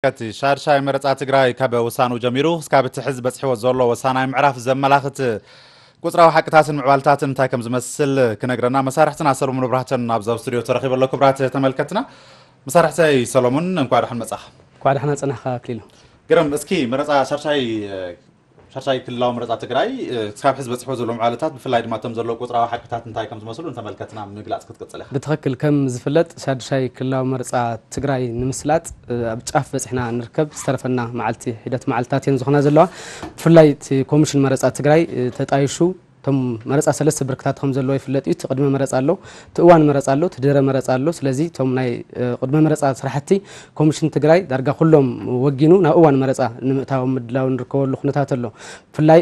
እቲ ሻድሻይ መረጻ ትግራይ ካብ ውሳኑ ጀሚሩ እስካብ እቲ ሕዚ በጽሕዎ ዘሎ ወሳናይ ምዕራፍ ዘመላኽት ቁጽራዊ ሓቅታትን ምዕባልታትን እንታይ ከም ዝመስል ክነግረና መሳርሕትና ሰሎሙን ብራህተን ኣብዚ ኣብ ስቱዲዮ ተረኺቡ ኣሎ። ክቡራት ተመልከትና፣ መሳርሕተይ ሰሎሙን፣ እንኳዕ ደሓን መጻኻ። እንኳዕ ደሓን ጸናሕካ ኣክሊሉ። ግርም፣ እስኪ መረጻ ሻድሻይ፣ ሻድሻይ ክልላዊ መረጻ ትግራይ፣ ክሳብ ሕዚ በጽሕዎ ዘሎ ምዕባለታት፣ ብፍላይ ድማ እቶም ዘለዉ ቁጽራዊ ሓቅታት እንታይ ከም ዝመስሉ ንተመልከትና ምግላጽ ክትቅጽል ኢኻ። ብትኽክል፣ ከም ዝፍለጥ ሻድሻይ ክልላዊ መረጻ ትግራይ ንምስላጥ ኣብ ጫፍ በጺሕና ንርከብ። ዝተረፈና መዓልቲ፣ ሒደት መዓልትታት እየን ዝኾና ዘለዋ። ብፍላይ እቲ ኮሚሽን መረጻ ትግራይ ተጣይሹ፣ እቶም መረጻ ሰለስተ ብርክታት ከም ዘለዎ ይፍለጥ እዩ። እቲ ቅድመ መረጻ ኣሎ፣ እቲ እዋን መረጻ ኣሎ፣ እቲ ድህረ መረጻ ኣሎ። ስለዚ እቶም ናይ ቅድመ መረጻ ስራሕቲ ኮሚሽን ትግራይ ዳርጋ ኩሎም ወጊኑ ናብ እዋን መረጻ ንምእታዎም ምድላው ንርከበሉ ኩነታት ኣሎ። ብፍላይ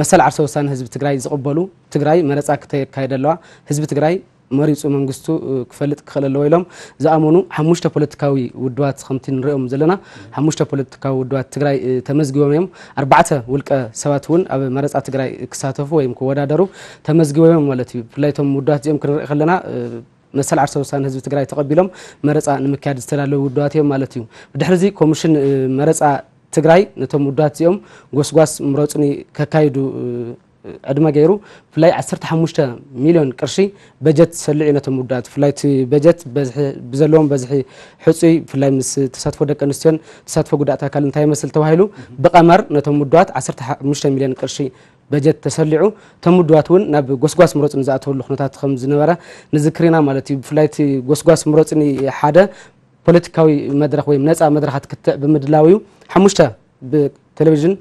መሰል ዓርሰ ውሳነ ህዝቢ ትግራይ ዝቕበሉ፣ ትግራይ መረጻ ክተካየድ ኣለዋ፣ ህዝቢ ትግራይ መሪጹ መንግስቱ ክፈልጥ ክኽእል ኣለዎ ኢሎም ዝኣመኑ ሓሙሽተ ፖለቲካዊ ውድባት ከምቲ ንሪኦም ዘለና፣ ሓሙሽተ ፖለቲካዊ ውድባት ትግራይ ተመዝጊቦም እዮም። ኣርባዕተ ውልቀ ሰባት እውን ኣብ መረጻ ትግራይ ክሳተፉ ወይም ክወዳደሩ ተመዝጊቦም እዮም ማለት እዩ። ብፍላይ እቶም ውድባት እዚኦም ክንርኢ ከለና መሰል ዓርሰ ውሳነ ህዝቢ ትግራይ ተቐቢሎም መረጻ ንምክያድ ዝተዳለዉ ውድባት እዮም ማለት እዩ። ብድሕሪ እዚ ኮሚሽን መረጻ ትግራይ ነቶም ውድባት እዚኦም ጎስጓስ ምረጹኒ ከካይዱ ዕድመ ገይሩ፣ ብፍላይ ዓሰርተ ሓሙሽተ ሚልዮን ቅርሺ በጀት ሰሊዑ ነቶም ውድባት። ብፍላይ እቲ በጀት በዝሒ፣ ብዘለዎም በዝሒ ሕጹይ፣ ብፍላይ ምስ ተሳትፎ ደቂ ኣንስትዮን ተሳትፎ ጉዳእት ኣካል እንታይ ይመስል ተባሂሉ ብቐመር ነቶም ውድባት ዓሰርተ ሓሙሽተ ሚልዮን ቅርሺ በጀት ተሰሊዑ፣ እቶም ውድባት እውን ናብ ጎስጓስ ምረጹኒ ዝኣተወሉ ኩነታት ከም ዝነበረ ንዝክር ኢና ማለት እዩ። ብፍላይ እቲ ጎስጓስ ምረጹኒ ሓደ ፖለቲካዊ መድረኽ ወይ ነጻ መድረኻት ክትዕ ብምድላው እዩ። ሓሙሽተ ብቴሌቪዥን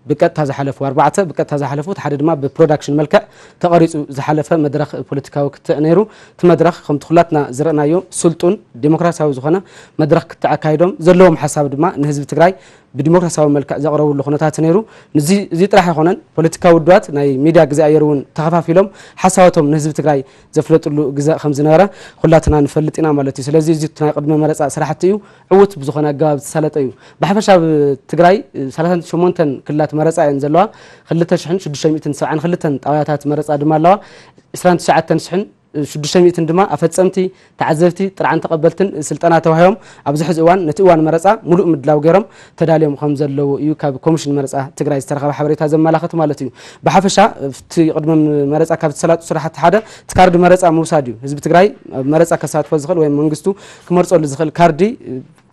ብቀጥታ ዝሓለፉ፣ ኣርባዕተ ብቀጥታ ዝሓለፉ፣ እቲ ሓደ ድማ ብፕሮዳክሽን መልክዕ ተቐሪጹ ዝሓለፈ መድረኽ ፖለቲካዊ ክትዕ ነይሩ። እቲ መድረኽ ከምቲ ኩላትና ዝረእናዮ ስልጡን ዴሞክራሲያዊ ዝኾነ መድረኽ ክትዕ ኣካይዶም፣ ዘለዎም ሓሳብ ድማ ንህዝቢ ትግራይ ብዲሞክራሲያዊ መልክዕ ዘቕረብሉ ኩነታት ነይሩ። ንዚ፣ እዚ ጥራሕ ኣይኮነን፣ ፖለቲካዊ ውድባት ናይ ሚድያ ግዜ ኣየር እውን ተኸፋፊሎም ሓሳባቶም ንህዝቢ ትግራይ ዘፍለጥሉ ግዜ ከም ዝነበረ ኩላትና ንፈልጥ ኢና ማለት እዩ። ስለዚ እዚ እቲ ናይ ቅድመ መረጻ ስራሕቲ እዩ። ዕዉት ብዝኾነ ኣገባብ ዝተሳለጠ እዩ። ብሓፈሻ ኣብ ትግራይ ሰላሳን ሸሞንተን ክልላት መረጻ እየን ዘለዋ። ክልተ ሽሕን ሽዱሽተ ሚእትን ሰብዓን ክልተን ጣብያታት መረጻ ድማ ኣለዋ። ዕስራን ትሽዓተን ሽሕን ሽዱሽተ ሚእትን ድማ ኣፈጸምቲ፣ ተዓዘብቲ፣ ጥርዓን ተቐበልትን ስልጠና ተዋሂቦም ኣብዚ ሕዚ እዋን ነቲ እዋን መረጻ ሙሉእ ምድላው ገይሮም ተዳልዮም ከም ዘለዉ እዩ ካብ ኮሚሽን መረጻ ትግራይ ዝተረኸበ ሓበሬታ ዘመላኽት ማለት እዩ። ብሓፈሻ ኣብቲ ቅድመ መረጻ ካብ ዝተሳለጡ ስራሕቲ ሓደ እቲ ካርዲ መረጻ ምውሳድ እዩ። ህዝቢ ትግራይ ኣብ መረጻ ከሳትፎ ዝኽእል ወይ መንግስቱ ክመርጸሉ ዝኽእል ካርዲ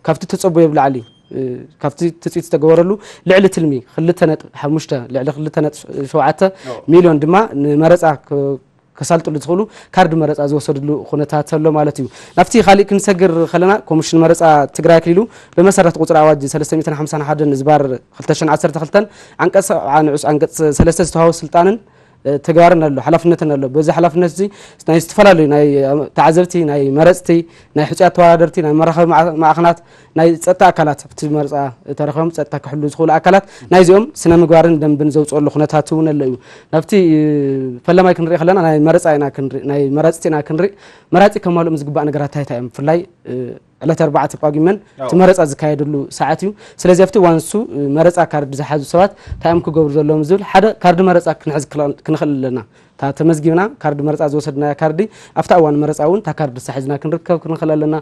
ካብቲ ተጸበዮ ብላዕሊ፣ ካብቲ ትጽቢት ዝተገበረሉ ልዕሊ ትልሚ ክልተ ነጥቢ ሓሙሽተ፣ ልዕሊ ክልተ ነጥቢ ሸውዓተ ሚልዮን ድማ ንመረጻ ከሳልጥሉ ዝኽእሉ ካርዲ መረጻ ዝወሰድሉ ኩነታት ኣሎ ማለት እዩ። ናብቲ ካሊእ ክንሰግር ከለና ኮሚሽን መረጻ ትግራይ ኣክሊሉ ብመሰረት ቁጽሪ ኣዋጅ ሰለስተ ሚእትን ሓምሳን ሓደን ዝባር ክልተ ሽሕን ዓሰርተ ክልተን ዓንቀጽ ሰብዓ ንዑስ ዓንቀጽ ሰለስተ ዝተዋህቦ ስልጣንን ተግባርን ኣሎ፣ ሓላፍነትን ኣሎ። በዚ ሓላፍነት እዚ ናይ ዝተፈላለዩ ናይ ተዓዘብቲ፣ ናይ መረጽቲ፣ ናይ ሕጹያት ተወዳደርቲ፣ ናይ መራኸቢ ማዕኸናት፣ ናይ ጸጥታ ኣካላት ኣብቲ መርጻ ተረኺቦም ጸጥታ ክሕሉ ዝኽእሉ ኣካላት ናይዚኦም ስነ ምግባርን ደንብን ዘውፅኦሉ ኩነታት እውን ኣሎ እዩ። ናብቲ ፈለማይ ክንርኢ ከለና ናይ መረፃ ኢና ክንርኢ፣ ናይ መራፅቲ ኢና ክንርኢ። መራፂ ከማልኦም ዝግባእ ነገራት እንታይ እንታይ እዮም? ብፍላይ ዕለት ኣርባዕተ ጳጉመን እቲ መረፃ ዝካየደሉ ሰዓት እዩ። ስለዚ ኣብቲ እዋን ንሱ መረፃ ካርድ ዝሓዙ ሰባት እንታይ እዮም ክገብሩ ዘለዎም ዝብል ሓደ ካርዲ መረፃ ክንሕዝ ክንኽእል ኣለና። እታ ተመዝጊብና ካርዲ መረፃ ዝወሰድናያ ካርዲ ኣብታ እዋን መረፃ እውን እታ ካርዲ ሳሒዝና ክንርከብ ክንኽእል ኣለና።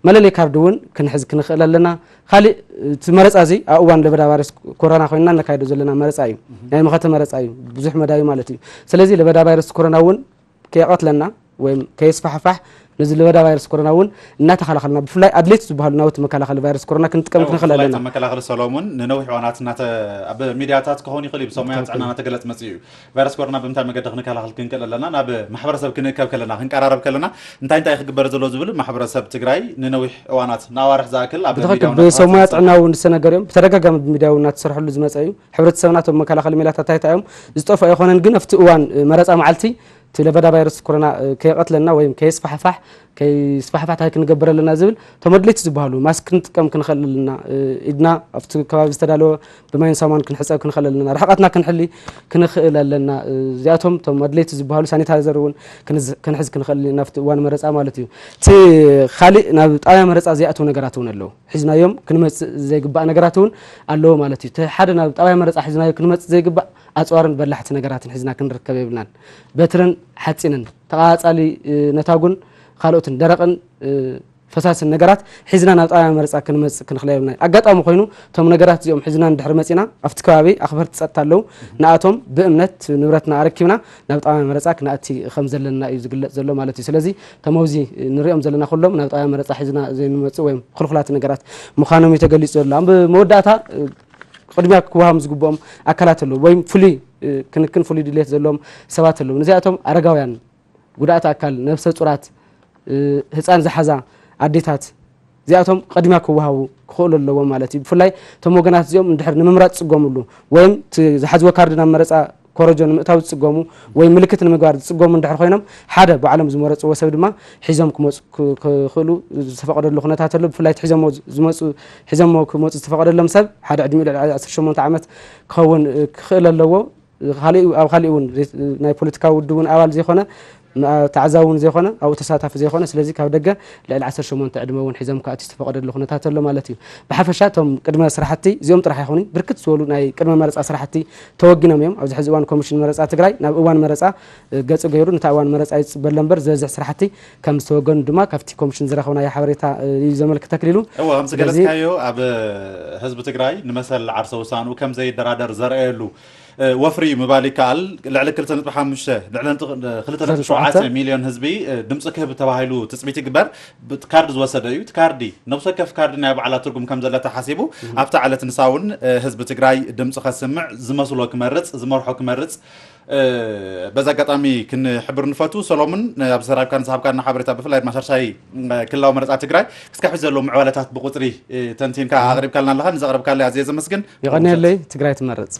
መለለይ ካርዲ እውን ክንሕዝ ክንኽእል ኣለና። ካሊእ እቲ መረፃ እዚ ኣብ እዋን ለበዳ ቫይረስ ኮሮና ኮይንና ነካይዶ ዘለና መረፃ እዩ። ናይ መኸተ መረፃ እዩ፣ ብዙሕ መዳዩ ማለት እዩ። ስለዚ ለበዳ ቫይረስ ኮሮና እውን ከየቐትለና ወይም ከየስፋሕፋሕ ነዚ ለበዳ ቫይረስ ኮሮና እውን እናተኸላኸልና ብፍላይ ኣድለይቲ ዝበሃሉ ናውቲ መከላኸሊ ቫይረስ ኮሮና ክንጥቀም ክንኽእል ኣለና። መከላኸሊ ሰሎሙን ንነዊሕ እዋናት እናተ ኣብ ሚድያታት ክኸውን ይኽእል እዩ ብሰብ ሞያ ጥዕና እናተገለፅ መፅኡ እዩ። ቫይረስ ኮሮና ብምንታይ መገዲ ክንከላኸል ክንክእል ኣለና? ናብ ማሕበረሰብ ክንእከብ ከለና፣ ክንቀራረብ ከለና እንታይ እንታይ ክግበር ዘሎ ዝብል ማሕበረሰብ ትግራይ ንነዊሕ እዋናት ንኣዋርሕ ዝኣክል ኣብ ብትኽክል ሚድያው ብሰብ ሞያ እናተሳተፈ ጥዕና እውን ዝተነገረ እዮም። ብተደጋጋሚ ብሚድያ እውን እናተሰርሐሉ ዝመፀ እዩ። ሕብረተሰብና እቶም መከላኸሊ ሜላታት እንታይ እንታይ እዮም ዝጠፍኡ ኣይኮነን፣ ግን ኣብቲ እዋን መረፃ መዓልቲ እቲ ለበዳ ቫይረስ ኮሮና ከየቐትለና ወይም ከየስፋሕፋሕ ከይስፋሕፋሕ እንታይ ክንገብር ኣለና ዝብል እቶም ኣድለይቲ ዝበሃሉ ማስክ ክንጥቀም ክንኽእል ኣለና። ኢድና ኣብቲ ከባቢ ዝተዳለወ ብማይን ሳሙናን ክንሕፀብ ክንኽእል ኣለና። ርሕቐትና ክንሕሊ ክንኽእል ኣለና። እዚኣቶም እቶም ኣድለይቲ ዝበሃሉ ሳኒታይዘር እውን ክንዝ- ክንሕዝ ክንኽእል ኣለና ኣብቲ እዋን መረፃ ማለት እዩ። እቲ ካሊእ ናብ ጣብያ መረፃ ዘይኣተው ነገራት እውን ኣለዉ። ሒዝናዮም ክንመፅእ ዘይግባእ ነገራት እውን ኣለዎ ማለት እዩ። እቲ ሓደ ናብ ጣብያ መረፃ ሒዝናዮ ክንመፅእ ዘይግባእ ኣፅዋርን በላሕቲ ነገራትን ሒዝና ክንርከብ የብልናን። በትርን ሓፂንን፣ ተቓፃሊ ነታጉን ካልኦትን ደረቕን ፈሳስን ነገራት ሒዝና ናብ ጣብያ መረፃ ክንመፅእ ክንኽእል የብልና። ኣጋጣሚ ኮይኑ እቶም ነገራት እዚኦም ሒዝና እንድሕር መፂና ኣብቲ ከባቢ ኣኽበርቲ ፀጥታ ኣለዉ። ንኣቶም ብእምነት ንብረትና ኣረኪብና ናብ ጣብያ መረፃ ክነኣቲ ከም ዘለና እዩ ዝግለፅ ዘሎ ማለት እዩ። ስለዚ እቶም ኣብዚ ንሪኦም ዘለና ኩሎም ናብ ጣብያ መረፃ ሒዝና ዘይንመፅእ ወይም ክልኩላት ነገራት ምዃኖም እዩ ተገሊፁ ዘሎ። ኣብ መወዳእታ ቅድሚያ ክወሃም ዝግብኦም ኣካላት ኣለዉ ወይም ፍሉይ ክንክን ፍሉይ ድሌት ዘለዎም ሰባት ኣለዉ። ነዚኣቶም ኣረጋውያን፣ ጉዳእቲ ኣካል፣ ነብሰ ፁራት፣ ህፃን ዝሓዛ ኣዴታት እዚኣቶም ቅድሚያ ክወሃቡ ክኽእሉ ኣለዎም ማለት እዩ። ብፍላይ እቶም ወገናት እዚኦም እንድሕር ንምምራፅ ዝፅገሙሉ ወይም እቲ ዝሓዝዎ ካርድ ናብ መረፃ ኮረጆ ንምእታው ዝፅገሙ ወይ ምልክት ንምግባር ዝፅገሙ እንድሕር ኮይኖም ሓደ ባዕሎም ዝመረፅዎ ሰብ ድማ ሒዞም ክመፁ ክ- ክኽእሉ ዝተፈቀደሉ ኩነታት ኣሎ። ብፍላይ እቲ ሒዞሞ ዝመፁ ሒዞሞ ክመፁ ዝተፈቀደሎም ሰብ ሓደ ዕድሚኡ ልዕሊ ዓሰርተ ሸሞንተ ዓመት ክኸውን እ፣ ክኽእል ኣለዎ። ካሊእ ኣብ ካሊእ እውን ዘይ- ናይ ፖለቲካዊ ውድብ እውን ኣባል ዘይኮነ ም- ተዓዛቢ እውን ዘይኮነ ኣብኡ ተሳታፊ ዘይኮነ ስለዚ ካብ ደገ ልዕሊ ዓሰርተ ሸሞንተ ዕድመ እውን ሒዞም ክኣትዩ ዝተፈቀደሉ ኩነታት ኣሎ ማለት እዩ። ብሓፈሻ እቶም ቅድመ ስራሕቲ እዚኦም ጥራሕ ኣይኮኑን፣ ብርክት ዝበሉ ናይ ቅድመ መረፃ ስራሕቲ ተወጊኖም እዮም። ኣብዚ ሕዚ እዋን ኮሚሽን መረፃ ትግራይ ናብ እዋን መረፃ እ፣ ገፁ ገይሩ ነታ እዋን መረፃ ይፅበ ኣሎ እምበር ዝበዝሕ ስራሕቲ ከም ዝተወገኑ ድማ ካብቲ ኮሚሽን ዝረኸብናዮ ሓበሬታ እ፣ እዩ ዘመልክት ተክሊሉ። እወ ከምዚ ስለዚ ገለፅካዮ ኣብ ህዝቢ ትግራይ ንመሰል ዓርሰ ውሳንኡ ከም ዘይደራደር ዘርአየሉ እ፣ ወፍሪ እዩ ምባል ይከኣል። ልዕሊ ክልተ ነጥቢ ሓሙሽተ ልዕሊ ክልተ ነጥቢ ሸውዓተ ሚልዮን ህዝቢ እ፣ ድምፂ ክህብ ተባሂሉ ትፅቢት ይግበር። ብ- ካርዲ ዝወሰደ እዩ። እቲ ካርዲ ነብሲ ወከፍ ካርዲ ናይ ባዕላ ትርጉም ከም ዘለ ተሓሲቡ ኣብታ ዕለት ንሳ እውን እ፣ ህዝቢ ትግራይ ድምፂ ከስምዕ ዝመስሎ ክመርፅ ዝመርሖ ክመርፅ እ፣ በዚ ኣጋጣሚ ክንሕብር ንፈቱ። ሰሎሙን እ፣ ኣብ ዘራብካን ዝሃብካና ሓበሬታ ብፍላይ ድማ ሻድሻይ እ፣ ክልላዊ መረፃ ትግራይ ክስካብ ሕዚ ዘለዉ ምዕባለታት ብቁፅሪ እ፣ ተንቲንካ ኣቕሪብካልና ኣለኻ። ንዘቕረብካለይ ኣዝየ ዘመስግን። የቐንየለይ። ትግራይ ትመርፅ።